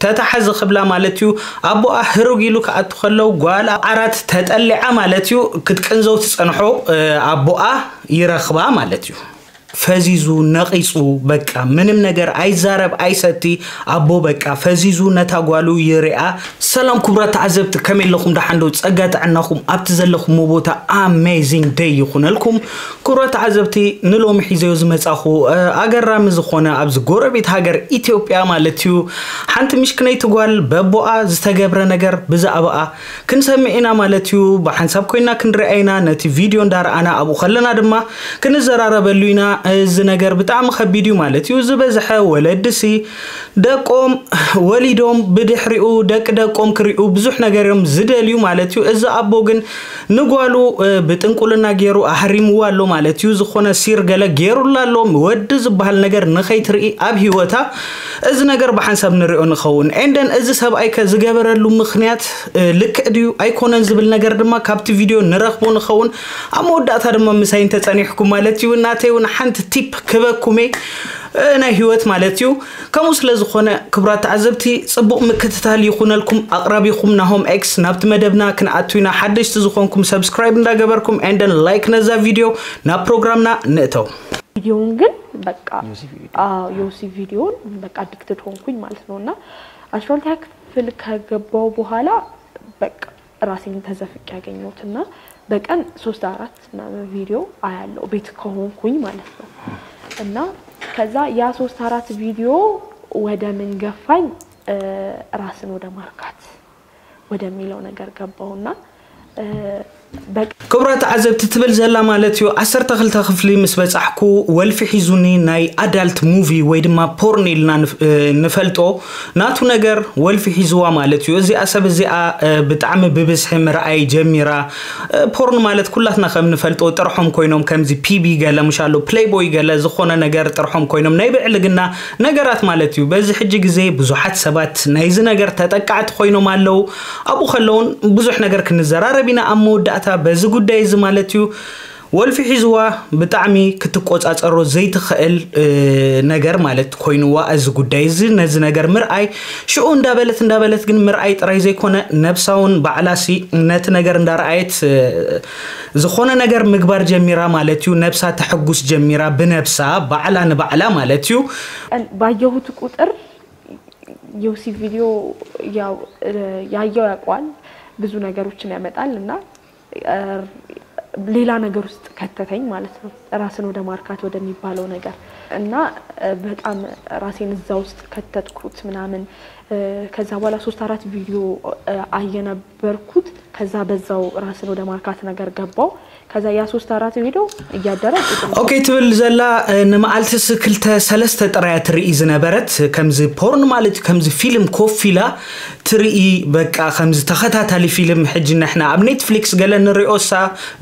ተታሓዚ ክብላ ማለት እዩ። ኣቦኣ ህሩግ ኢሉ ክኣቱ ከለው ጓል ኣብ ዓራት ተጠሊዓ ማለት እዩ ክትቅንዘው ትጸንሖ። ኣቦኣ ይረኽባ ማለት እዩ። ፈዚዙ ነቒጹ፣ በቃ ምንም ነገር ኣይዛረብ ኣይሰቲ። ኣቦ በቃ ፈዚዙ ነታ ጓሉ ይሪኣ። ሰላም ክቡራት ተዓዘብቲ፣ ከመይ ኣለኹም? ደሓን ዶ? ጸጋ ጥዕናኹም ኣብቲ ዘለኹምዎ ቦታ ኣሜዚንግ ደይ ይኹነልኩም። ክቡራት ተዓዘብቲ፣ ንሎሚ ሒዘዮ ዝመጻኹ ኣገራሚ ዝኾነ ኣብዚ ጎረቤት ሃገር ኢትዮጵያ ማለት እዩ ሓንቲ ምሽክነይቲ ጓል በቦኣ ዝተገብረ ነገር ብዛዕባኣ ክንሰምዕ ኢና ማለት እዩ። ብሓንሳብ ኮይና ክንሪኣ ኢና። ነቲ ቪድዮ እንዳረኣና ኣብኡ ከለና ድማ ክንዘራረበሉ ኢና። እዚ ነገር ብጣዕሚ ከቢድ እዩ ማለት እዩ። ዝበዝሐ ወለድሲ ደቆም ወሊዶም ብድሕሪኡ ደቂ ደቆም ክሪኡ ብዙሕ ነገር እዮም ዝደልዩ ማለት እዩ። እዚ ኣቦ ግን ንጓሉ ብጥንቁልና ገይሩ ኣሕሪምዋ ኣሎ ማለት እዩ። ዝኾነ ሲር ገለ ገይሩላ ኣሎ። ወዲ ዝበሃል ነገር ንኸይትርኢ ኣብ ህይወታ እዚ ነገር ብሓንሳብ ንሪኦ ንኸውን። ኤንደን እዚ ሰብኣይ ከ ዝገበረሉ ምኽንያት ልክዕ ድዩ ኣይኮነን ዝብል ነገር ድማ ካብቲ ቪድዮ ንረኽቦ ንኸውን። ኣብ መወዳእታ ድማ ምሳይ እንተጸኒሕኩም ማለት እዩ። ናተይ እውን ሓንቲ ቲፕ ክበኩሜ ናይ ህይወት ማለት እዩ። ከምኡ ስለ ዝኾነ ክቡራት ተዓዘብቲ ጽቡቕ ምክትታል ይኹነልኩም። ኣቕራቢኹም ናሆም ኤክስ። ናብቲ መደብና ክንኣቱ ኢና። ሓደሽቲ ዝኾንኩም ሰብስክራይብ እንዳገበርኩም ኤንደን ላይክ ነዛ ቪድዮ። ናብ ፕሮግራምና ንእተው። ቪዲዮውን ግን በቃ ዮሲ ቪዲዮን በቃ አዲክትድ ሆንኩኝ ማለት ነው። እና አስራ ሁለተኛ ክፍል ከገባው በኋላ በቃ ራሴን ተዘፍቅ ያገኘሁት እና በቀን ሶስት አራት ምናምን ቪዲዮ አያለው ቤት ከሆንኩኝ ማለት ነው። እና ከዛ ያ ሶስት አራት ቪዲዮ ወደ ምን ገፋኝ? ራስን ወደ ማርካት ወደሚለው ነገር ገባውና ክቡራት ተዓዘብቲ ትብል ዘላ ማለት እዩ። ዓሰርተ ክልተ ክፍሊ ምስ በጻሕኩ ወልፊ ሒዙኒ ናይ ኣዳልት ሙቪ ወይ ድማ ፖርን ኢልና ንፈልጦ ናቱ ነገር ወልፊ ሒዝዋ ማለት እዩ። እዚኣ ሰብ እዚኣ ብጣዕሚ ብብዝሒ ምርኣይ ጀሚራ። ፖርን ማለት ኩላትና ከም ንፈልጦ ጥርሖም ኮይኖም ከምዚ ፒቢ ገለ ምሻሎ ፕሌይቦይ ገለ ዝኾነ ነገር ጥርሖም ኮይኖም ናይ ብዕልግና ነገራት ማለት እዩ። በዚ ሕጂ ግዜ ብዙሓት ሰባት ናይዚ ነገር ተጠቃዕቲ ኮይኖም ኣለዉ። ኣብኡ ከለውን ብዙሕ ነገር ክንዘራረብ ኢና። ኣብ መወዳእታ በዚ ጉዳይ እዚ ማለት እዩ ወልፊ ሒዝዋ ብጣዕሚ ክትቆጻጸሮ ዘይትኽእል ነገር ማለት ኮይንዋ እዚ ጉዳይ እዚ ነዚ ነገር ምርኣይ ሽኡ እንዳበለት እንዳበለት ግን ምርኣይ ጥራይ ዘይኮነ ነብሳውን ባዕላሲ ነቲ ነገር እንዳረኣየት ዝኾነ ነገር ምግባር ጀሚራ ማለት እዩ። ነብሳ ተሐጉስ ጀሚራ ብነብሳ ባዕላ ንባዕላ ማለት እዩ። ባየሁት ቁጥር ዮሲ ቪዲዮ ያው ያየው ያውቋል ብዙ ነገሮችን ያመጣል እና ሌላ ነገር ውስጥ ከተተኝ ማለት ነው። ራስን ወደ ማርካት ወደሚባለው ነገር እና በጣም ራሴን እዛ ውስጥ ከተትኩት ምናምን። ከዛ በኋላ ሶስት አራት ቪዲዮ አየነበርኩት። ከዛ በዛው ራስን ወደ ማርካት ነገር ገባው። ከዛ ያ ሶስት አራት ቪዲዮ እያደረ ኦኬ ትብል ዘላ ንመዓልትስ ክልተ ሰለስተ ጥራያ ትርኢ ዝነበረት ከምዚ ፖርን ማለት ከምዚ ፊልም ኮፍ ኢላ ትርኢ በቃ ከምዚ ተኸታታሊ ፊልም ሕጂ ንሕና ኣብ ኔትፍሊክስ ገለ ንሪኦሳ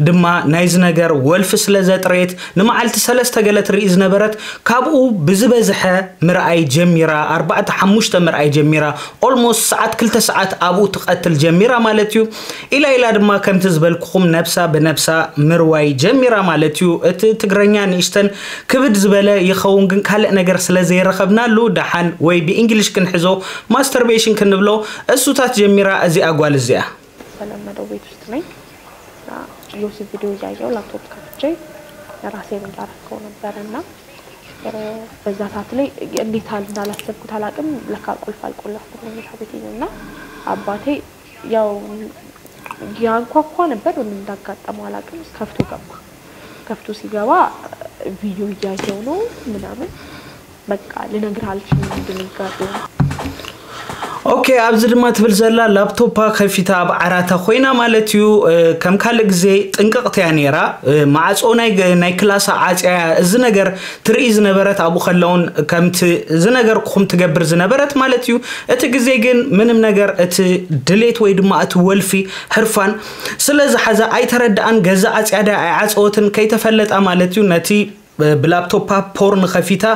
ድማ ናይዚ ነገር ወልፊ ስለ ዘጥረየት ንመዓልቲ ሰለስተ ገለ ትርኢ ዝነበረት ካብኡ ብዝበዝሐ ምርኣይ ጀሚራ ኣርባዕተ ሓሙሽተ ምርኣይ ጀሚራ ኦልሞስት ሰዓት ክልተ ሰዓት ኣብኡ ትቐትል ጀሚራ ማለት እዩ። ኢላ ኢላ ድማ ከምቲ ዝበልኩኹም ነብሳ ብነብሳ ምርዋይ ጀሚራ ማለት እዩ። እቲ ትግረኛ ንእሽተን ክብድ ዝበለ ይኸውን ግን ካልእ ነገር ስለ ዘይረኸብናሉ ደሓን ወይ ብእንግሊሽ ክንሕዞ ማስተርቤሽን ክንብሎ እሱታት ጀሚራ እዚኣ ጓል እዚኣ። ተለመደው ቤት ውስጥ ነኝ። ዮሲ ቪዲዮ እያየው ላፕቶፕ ከፍቼ ራሴን እያረከው ነበረ እና በዛ ሰዓት ላይ እንዴት እንዳላሰብኩት አላውቅም። ለካ ቁልፍ አልቆለፍኩም መኝታ ቤቴን እና አባቴ ያው ያንኳኳ ነበር። ምን እንዳጋጠመው አላውቅም። ከፍቶ ገባ። ከፍቶ ሲገባ ቪዲዮ እያየው ነው ምናምን በቃ ልነግር አልችልም ድንጋጤ። ኦኬ ኣብዚ ድማ ትብል ዘላ ላፕቶፓ ከፊታ ኣብ ዓራታ ኮይና ማለት እዩ። ከም ካልእ ግዜ ጥንቅቕቲ እያ ነይራ። ማዕፆ ናይ ክላሳ ዓፅያ እዚ ነገር ትርኢ ዝነበረት ኣብኡ ከለውን ከምቲ ዝነገርኩኹም ትገብር ዝነበረት ማለት እዩ። እቲ ግዜ ግን ምንም ነገር እቲ ድሌት ወይ ድማ እቲ ወልፊ ሕርፋን ስለ ዝሓዛ ኣይተረድኣን። ገዛ ዓፅያ ዳ ኣይዓፀወትን ከይተፈለጣ ማለት እዩ ነቲ ብላፕቶፓ ፖርን ከፊታ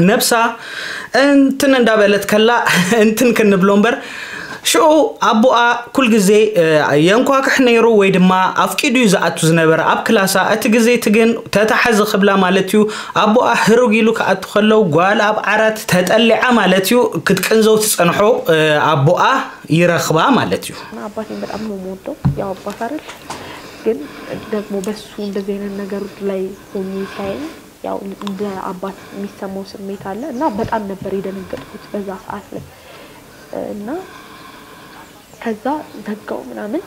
ነብሳ እንትን እንዳበለት ከላ እንትን ክንብሎ እምበር ሽዑ ኣቦኣ ኩል ግዜ የንኳክሕ ነይሩ ወይ ድማ ኣፍቂዱ እዩ ዝኣቱ ዝነበረ ኣብ ክላሳ። እቲ ግዜ እቲ ግን ተታሓዚ ክብላ ማለት እዩ ኣቦኣ ህሩግ ኢሉ ክኣቱ ከለው ጓል ኣብ ዓራት ተጠሊዓ ማለት እዩ ክትቅንዘው ትጸንሖ ኣቦኣ ይረኽባ ማለት እዩ። አባቴን በጣም ነው የምወደው። ያው አባት አይደል ግን ደግሞ በሱ እንደዚህ አይነት ነገር ላይ ሆኜ ሲያየኝ ያው እንደ አባት የሚሰማው ስሜት አለ እና በጣም ነበር የደነገጥኩት በዛ ሰዓት ላይ እና ከዛ ዘጋው ምናምን።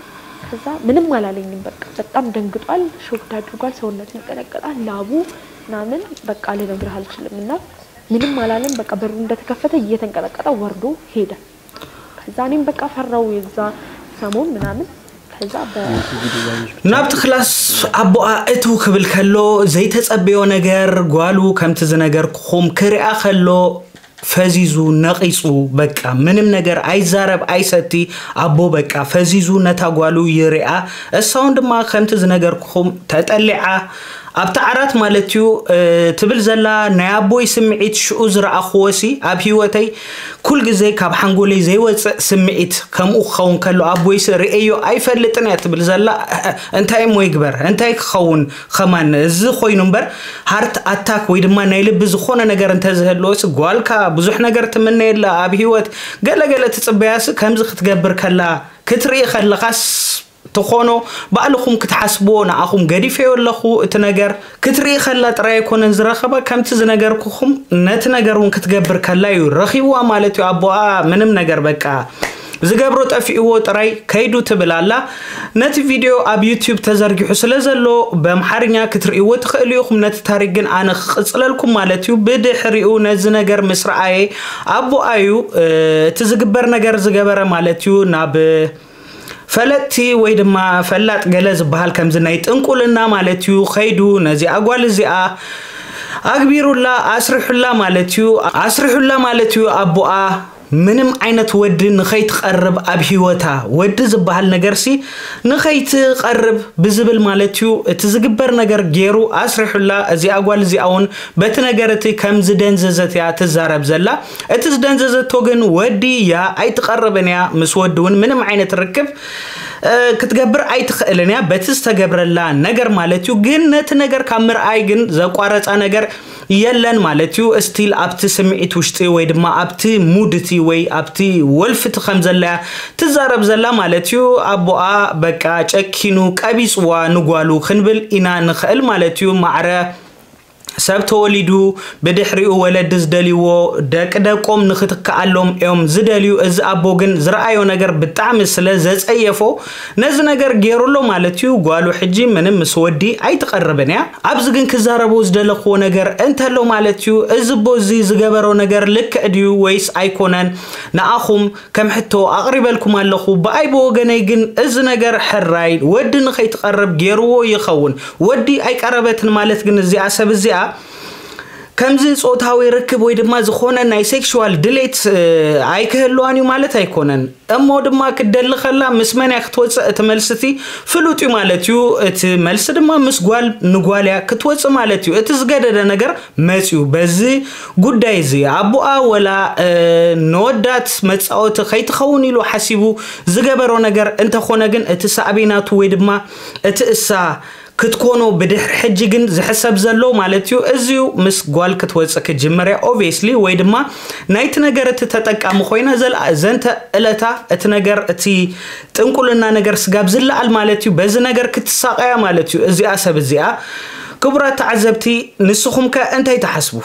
ከዛ ምንም አላለኝም። በቃ በጣም ደንግጧል፣ ሾክድ አድርጓል፣ ሰውነቱ ይንቀጠቀጣል፣ ላቡ ምናምን በቃ ልነግርህ አልችልም። እና ምንም አላለም። በቃ በሩ እንደተከፈተ እየተንቀጠቀጠ ወርዶ ሄደ። ከዛ እኔም በቃ ፈራው የዛ ሰሞን ምናምን። ከዛ በ ናብቲ ክላስ ኣቦኣ እትው ክብል ከሎ ዘይተጸበዮ ነገር ጓሉ ከምቲ ዝነገርኩኹም ክሪኣ ከሎ ፈዚዙ ነቒጹ በቃ ምንም ነገር ኣይዛረብ ኣይሰቲ። ኣቦ በቃ ፈዚዙ ነታ ጓሉ ይሪኣ። እሳውን ድማ ከምቲ ዝነገርኩኹም ተጠሊዓ ኣብቲ ዓራት ማለት እዩ ትብል ዘላ ናይ ኣቦይ ስምዒት ሽኡ ዝረኣኽዎ ሲ ኣብ ህይወተይ ኩል ግዜ ካብ ሓንጎለይ ዘይወፅእ ስምዒት ከምኡ ክኸውን ከሎ ኣቦይ ሲ ርእየዮ ኣይፈልጥን እያ ትብል ዘላ። እንታይ እሞ ይግበር እንታይ ክኸውን ከማን እዚ ኮይኑ እምበር ሃርት ኣታክ ወይ ድማ ናይ ልቢ ዝኾነ ነገር እንተዝህልዎ ሲ ጓልካ ብዙሕ ነገር ትምነየላ ኣብ ህይወት ገለገለ ትፅበያ ሲ ከምዚ ክትገብር ከላ ክትርኢ ከለኻስ ትኾኖ ባዕልኹም ክትሓስብዎ ንኣኹም ገዲፈዮ ኣለኹ እቲ ነገር ክትርኢ ከላ ጥራይ ኣይኮነን ዝረኸባ ከምቲ ዝነገርኩኹም ነቲ ነገር እውን ክትገብር ከላ እዩ ረኺብዋ ማለት እዩ ኣቦኣ ምንም ነገር በቃ ዝገብሮ ጠፊእዎ ጥራይ ከይዱ ትብል ኣላ። ነቲ ቪድዮ ኣብ ዩቲዩብ ተዘርጊሑ ስለ ዘሎ በምሓርኛ ክትርእይዎ ትኽእሉ ኢኹም። ነቲ ታሪክ ግን ኣነ ክቕጽለልኩም ማለት እዩ። ብድሕሪኡ ነዚ ነገር ምስ ረኣየ ኣቦኣ እዩ እቲ ዝግበር ነገር ዝገበረ ማለት እዩ ናብ ፈለጥቲ ወይ ድማ ፈላጥ ገለ ዝበሃል ከምዚ ናይ ጥንቁልና ማለት እዩ ከይዱ ነዚኣ ጓል እዚኣ ኣግቢሩላ ኣስሪሑላ ማለት እዩ ኣስሪሑላ ማለት እዩ ኣቦኣ ምንም ዓይነት ወዲ ንኸይትቐርብ ኣብ ህይወታ ወዲ ዝበሃል ነገርሲ ንኸይትቐርብ ብዝብል ማለት እዩ እቲ ዝግበር ነገር ገይሩ ኣስሪሑላ እዚኣ ጓል እዚኣ እውን በቲ ነገር እቲ ከም ዝደንዘዘት እያ ትዛረብ ዘላ እቲ ዝደንዘዘቶ ግን ወዲ እያ ኣይትቐርብን እያ ምስ ወዲ እውን ምንም ዓይነት ርክብ ክትገብር ኣይትኽእልን እያ በቲ ዝተገብረላ ነገር ማለት እዩ ግን ነቲ ነገር ካብ ምርኣይ ግን ዘቋረፃ ነገር የለን ማለት እዩ still ኣብቲ ስምዒት ውሽጢ ወይ ድማ ኣብቲ ሙድ እቲ ወይ ኣብቲ ወልፊ እቲ ከም ዘላ እያ ትዛረብ ዘላ ማለት እዩ ኣቦኣ በቃ ጨኪኑ ቀቢፅዋ ንጓሉ ክንብል ኢና ንኽእል ማለት እዩ ማዕረ ሰብ ተወሊዱ ብድሕሪኡ ወለዲ ዝደልይዎ ደቂ ደቆም ንኽትከኣሎም እዮም ዝደልዩ እዚ ኣቦ ግን ዝረኣዮ ነገር ብጣዕሚ ስለ ዘፀየፎ ነዚ ነገር ገይሩ ኣሎ ማለት እዩ ጓሉ ሕጂ ምንም ምስ ወዲ ኣይትቐርብን እያ ኣብዚ ግን ክዛረቦ ዝደለኽዎ ነገር እንተሎ ማለት እዩ እዚ ኣቦ እዚ ዝገበሮ ነገር ልክዕ ድዩ ወይስ ኣይኮነን ንኣኹም ከም ሕቶ ኣቕሪበልኩም ኣለኹ ብኣይ ብወገነይ ግን እዚ ነገር ሕራይ ወዲ ንኸይትቐርብ ገይርዎ ይኸውን ወዲ ኣይቀረበትን ማለት ግን እዚኣ ሰብ እዚኣ ከምዚ ፆታዊ ርክብ ወይ ድማ ዝኾነ ናይ ሴክሽዋል ድሌት ኣይክህልዋን እዩ ማለት ኣይኮነን እሞ ድማ ክትደሊ ከላ ምስ መን እያ ክትወፅእ እቲ መልሲ እቲ ፍሉጥ እዩ ማለት እዩ እቲ መልሲ ድማ ምስ ጓል ንጓል እያ ክትወፅእ ማለት እዩ እቲ ዝገደደ ነገር መፅዩ በዚ ጉዳይ እዚ ኣቦኣ ወላ ነወዳት መፃወቲ ከይትኸውን ኢሉ ሓሲቡ ዝገበሮ ነገር እንተኾነ ግን እቲ ሳዕቤናቱ ወይ ድማ እቲ እሳ ክትኮኖ ብድሕሪ ሕጂ ግን ዝሕሰብ ዘሎ ማለት እዩ እዚዩ ምስ ጓል ክትወፅእ ክጅምር እያ obviously ወይ ድማ ናይቲ ነገር እቲ ተጠቃሚ ኮይና ዘንተ እለታ እቲ ነገር እቲ ጥንቁልና ነገር ስጋብ ዝለዓል ማለት እዩ በዚ ነገር ክትሳቀያ ማለት እዩ እዚኣ ሰብ እዚኣ ክቡራት ተዓዘብቲ ንስኹም ከ እንታይ ትሓስቡ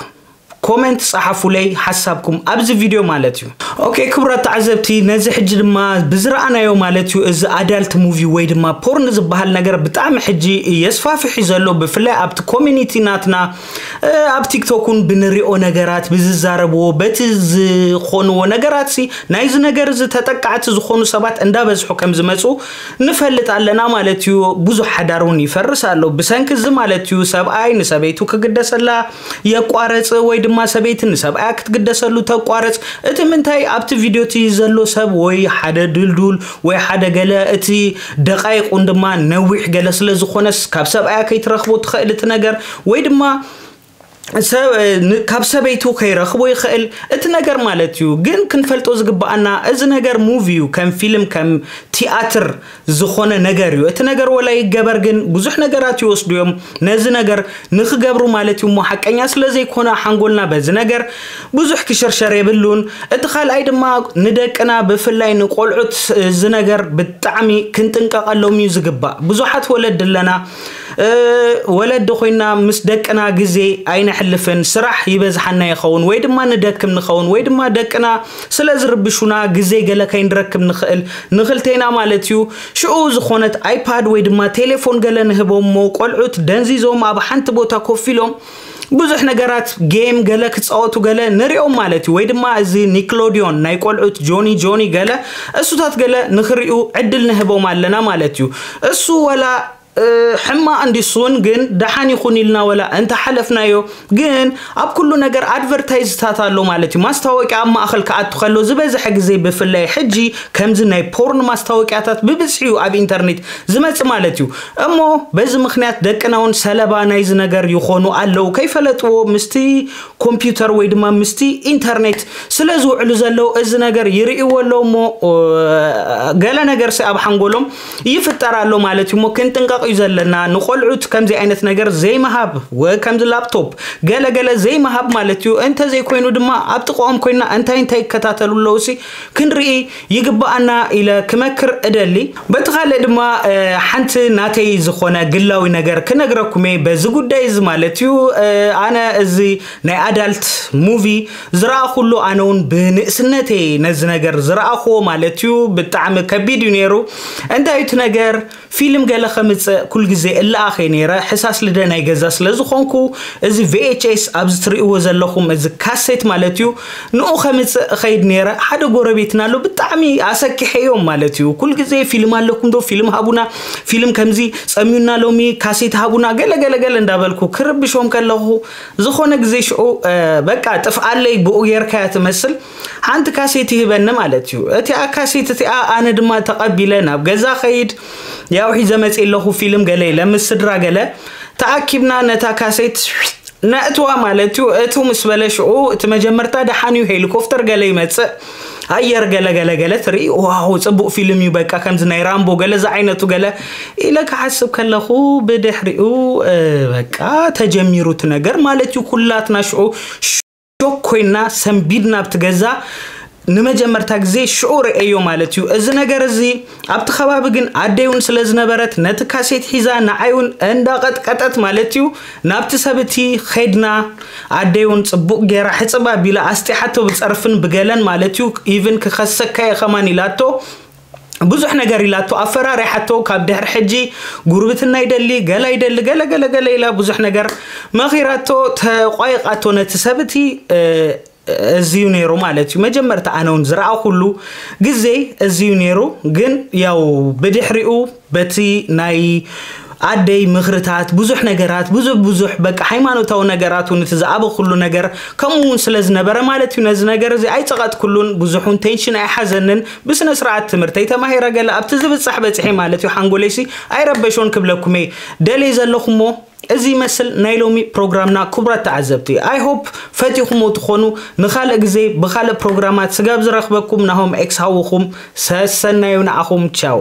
ኮመንት ጸሓፉለይ ሓሳብኩም ኣብዚ ቪድዮ ማለት እዩ። ኦኬ ክቡራት ተዓዘብቲ ነዚ ሕጂ ድማ ብዝረኣናዮ ማለት እዩ እዚ ኣዳልት ሙቪ ወይ ድማ ፖርን ዝበሃል ነገር ብጣዕሚ ሕጂ የስፋፍሕ እዩ ዘሎ ብፍላይ ኣብቲ ኮሚኒቲ ናትና ኣብ ቲክቶክ እውን ብንሪኦ ነገራት ብዝዛረብዎ በቲ ዝኾንዎ ነገራት ሲ ናይዚ ነገር እዚ ተጠቃዕቲ ዝኾኑ ሰባት እንዳበዝሑ ከም ዝመፁ ንፈልጥ ኣለና ማለት እዩ ብዙሕ ሓዳር እውን ይፈርስ ኣሎ ብሰንኪ እዚ ማለት እዩ ሰብኣይ ንሰበይቱ ክግደሰላ የቋረፅ ወይ ድማ ሰበይቲ ንሰብኣያ ክትግደሰሉ ተቋርፅ እቲ ምንታይ ኣብቲ ቪድዮ እቲ ዘሎ ሰብ ወይ ሓደ ድልዱል ወይ ሓደ ገለ እቲ ደቃይቁን ድማ ነዊሕ ገለ ስለ ዝኾነስ ካብ ሰብኣያ ከይትረኽቦ ትኽእል እቲ ነገር ወይ ድማ ሰብ እ፣ ን- ካብ ሰበይቱ ከይረኽቦ ይኽእል። እቲ ነገር ማለት እዩ ግን ክንፈልጦ ዝግባኣና፣ እዚ ነገር ሙቪ እዩ፣ ከም ፊልም ከም ቲያትር ዝኾነ ነገር እዩ። እቲ ነገር ወላ ይገበር ግን ብዙሕ ነገራት ይወስዱ እዮም ነዚ ነገር ንክገብሩ ማለት እዩ። እሞ ሓቀኛ ስለ ዘይኮነ ሓንጎልና በዚ ነገር ብዙሕ ክሽርሸር የብሉን። እቲ ካልኣይ ድማ ንደቅና ብፍላይ ንቆልዑት እዚ ነገር ብጣዕሚ ክንጥንቀቐሎም እዩ ዝግባእ። ብዙሓት ወለድ ኣለና፣ እ፣ ወለዲ ኮይና ምስ ደቅና ግዜ ኣይነሕልፍን። ስራሕ ይበዝሓና ይኸውን ወይ ድማ ንደክም ንኸውን ወይ ድማ ደቅና ስለ ዝርብሹና ግዜ ገለ ከይንረክብ ንኽእል፣ ንኽልቴና ማለት እዩ። ሽኡ ዝኾነት ኣይፓድ ወይ ድማ ቴሌፎን ገለ ንህቦም እሞ ቆልዑት ደንዚዞም ኣብ ሓንቲ ቦታ ኮፍ ኢሎም ብዙሕ ነገራት ጌም ገለ ክፃወቱ ገለ ንሪኦም ማለት እዩ። ወይ ድማ እዚ ኒክሎዲዮን ናይ ቆልዑት ጆኒ ጆኒ ገለ እሱታት ገለ ንክሪኡ ዕድል ንህቦም ኣለና ማለት እዩ። እሱ ወላ እ፣ ሕማቕ እንዲሱን ግን ደሓን ይኹን ኢልና ወላ እንተሓለፍናዮ፣ ግን ኣብ ኩሉ ነገር ኣድቨርታይዝታት ኣሎ ማለት እዩ። ማስታወቂያ ኣብ ማእኸል ክኣቱ ከሎ ዝበዝሐ ግዜ ብፍላይ ሕጂ ከምዚ ናይ ፖርን ማስታወቂያታት ብብዝሒ እዩ ኣብ ኢንተርኔት ዝመጽእ ማለት እዩ። እሞ በዚ ምኽንያት ደቅና እውን ሰለባ ናይዚ ነገር ይኾኑ ኣለዉ። ከይፈለጥዎ ምስቲ ኮምፒውተር ወይ ድማ ምስቲ ኢንተርኔት ስለ ዝውዕሉ ዘለዉ እዚ ነገር ይርእይዎ ኣለዉ እሞ፣ እ፣ ገለ ነገር ሲ ኣብ ሓንጎሎም ይፍጠር ኣሎ ማለት እዩ። እሞ ክንጥንቀቕ እዩ ዘለና። ንቆልዑት ከምዚ ዓይነት ነገር ዘይምሃብ፣ ወ-፣ ከምዚ ላፕቶፕ ገለ ገለ ዘይምሃብ ማለት እዩ። እንተዘይኮይኑ ድማ ኣብ ጥቕኦም ኮይና እንታይ እንታይ ይከታተሉ ኣለዉ ሲ ክንርኢ ይግባኣና ኢለ ክመክር እደሊ። በቲ ካልእ ድማ፣ እ፣ ሓንቲ ናተይ ዝኾነ ግላዊ ነገር ክነግረኩም እየ በዚ ጉዳይ እዚ ማለት እዩ። እ፣ ኣነ እዚ ናይ ኣዳልት ሙቪ ዝረኣኹሉ ኣነ እውን ብንእስነተይ ነዚ ነገር ዝረኣኹዎ ማለት እዩ። ብጣዕሚ ከቢድ እዩ ነይሩ። እንታይ እዩ እቲ ነገር? ፊልም ገለ ከምጽእ ኩል ግዜ እለኣኸ ነይረ። ሕሳስ ልደ ናይ ገዛ ስለ ዝኾንኩ፣ እዚ ቪኤችኤስ ኣብዚ ትርእይዎ ዘለኹም፣ እዚ ካሴት ማለት እዩ፣ ንኡ ከምጽእ እኸይድ ነይረ። ሓደ ጎረቤትና ኣሎ፣ ብጣዕሚ ኣሰኪሐዮም ማለት እዩ። ኩል ግዜ ፊልም ኣለኩም ዶ? ፊልም ሃቡና፣ ፊልም ከምዚ ጸሚዩና ሎሚ፣ ካሴት ሃቡና፣ ገለ ገለ ገለ እንዳበልኩ ክርብሾም ከለኹ፣ ዝኾነ ግዜ ሽዑ፣ እ፣ በቃ ጥፍኣለይ ብኡ ጌርካያ ትመስል። ሓንቲ ካሴት ይህበኒ ማለት እዩ። እቲኣ ካሴት እቲኣ ኣነ ድማ ተቐቢለ ናብ ገዛ ኸይድ፣ ያው ሒዘ መጽእ ኣለኹ ፊልም ገለ ኢለ ምስ ስድራ ገለ ተኣኪብና ነታ ካሴት ነእትዋ ማለት እዩ። እቱ ምስ በለ ሽዑ እቲ መጀመርታ ደሓን እዩ፣ ሄሊኮፕተር ገለ ይመጽእ፣ ኣየር ገለ ገለ ገለ ትርኢ፣ ዋው ጽቡቕ ፊልም እዩ፣ በቃ ከምዚ ናይ ራምቦ ገለ ዝዓይነቱ ገለ ኢለ ክሓስብ ከለኹ ብድሕሪኡ፣ እ፣ በቃ ተጀሚሩ እቲ ነገር ማለት እዩ። ኩላትና ሽዑ ሾክ ኮይና ሰንቢድና ኣብቲ ገዛ ንመጀመርታ ግዜ ሽዑ ርእየዮ ማለት እዩ። እዚ ነገር እዚ ኣብቲ ከባቢ ግን ኣደይ እውን ስለ ዝነበረት ነቲ ካሴት ሒዛ ንዓይ እውን እንዳቐጥቀጠት ማለት እዩ ናብቲ ሰብ እቲ ኸድና። ኣደይ እውን ጽቡቕ ገይራ ሕጽብ ኣቢላ ኣስጢሓቶ ብጸርፍን ብገለን ማለት እዩ። ኢቭን ክኸሰካ እየ ከማን ኢላቶ። ብዙሕ ነገር ኢላቶ ኣፈራሪሓቶ። ካብ ድሕሪ ሕጂ ጉርብትና ይደሊ፣ ገላ ይደሊ፣ ገለ ገለ ገለ ኢላ ብዙሕ ነገር መኺራቶ፣ ተቋይቓቶ ነቲ ሰብ እቲ፣ እ፣ እዚ እዩ ነይሩ ማለት እዩ። መጀመርታ ኣነ እውን ዝረኣኹሉ ግዜ እዚ እዩ ነይሩ። ግን ያው ብድሕሪኡ በቲ ናይ ኣደይ ምኽርታት ብዙሕ ነገራት፣ ብዙሕ ብዙሕ በቃ ሃይማኖታዊ ነገራት እውን እቲ ዝኣበኹሉ ነገር ከምኡ እውን ስለ ዝነበረ ማለት እዩ። ነዚ ነገር እዚ ኣይጸቐጥኩሉን፣ ብዙሕ እውን ቴንሽን ኣይሓዘንን። ብስነ ስርዓት ትምህርተይ ተማሂረ ገለ ኣብቲ ዝብጻሕ በጺሐ ማለት እዩ። ሓንጎለይሲ ኣይረበሾን ክብለኩም እየ ደልየ ዘለኹሞ። እዚ ይመስል ናይ ሎሚ ፕሮግራምና ክቡራት ተዓዘብቲ። I hope ፈቲኹሞ ትኾኑ። ንኻልእ ግዜ ብኻልእ ፕሮግራማት ስጋብ ዝረኽበኩም ናሆም ኤክስ ሃውኹም ሰሰናዩ ንዓኹም። ቻው።